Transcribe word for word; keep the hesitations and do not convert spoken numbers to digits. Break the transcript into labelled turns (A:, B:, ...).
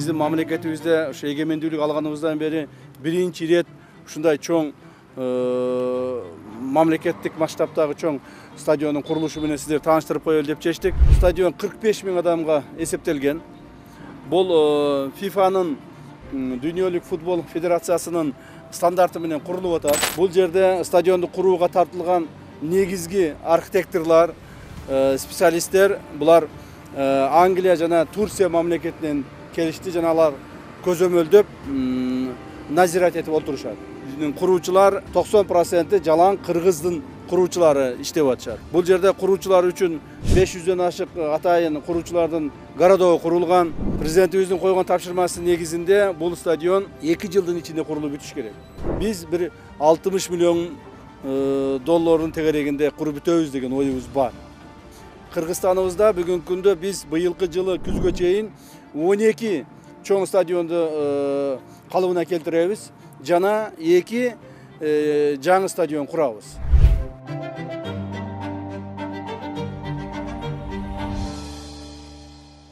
A: биздин мамлекетибизде ушу эгемендүүлүк алганыбыздан бери биринчи ирет ушундай чоң мамлекеттик масштабтагы чоң стадиондун курулушу менен сиздерди тааныштырып коелу деп чечтик. Стадион кырк беш миң адамга эсептелген. Бул фифанын Дүйнөлүк футбол федерациясынын стандарты менен курулуп атат. Бул жерде стадионду курууга тартылган негизги архитекторлор, специалисттер булар Англия жана Турция мамлекетинен келишти жана алар көзөмөлдөп назират этип отурушат. Биздин куруучулар токсон проценти жалаң кыргыздын куруучулары иштеп атышат. Бул жерде куруучулар үчүн беш жүздөн ашык атайын куруучулардын городогу курулган. Президентибиздин койгон тапшырмасы негизинде бул стадион эки жылдын ичинде курулуп бүтүш керек. Биз бир алтымыш миллион доллардын тегерегинде куруп бүтөбүз деген оюбуз бар. Кыргызстаныбызда бүгүнкү күндө биз быйылкы жылы күзгө чейин он эки чоң стадионду калыбына келтиребиз жана эки жаңы стадион курабыз.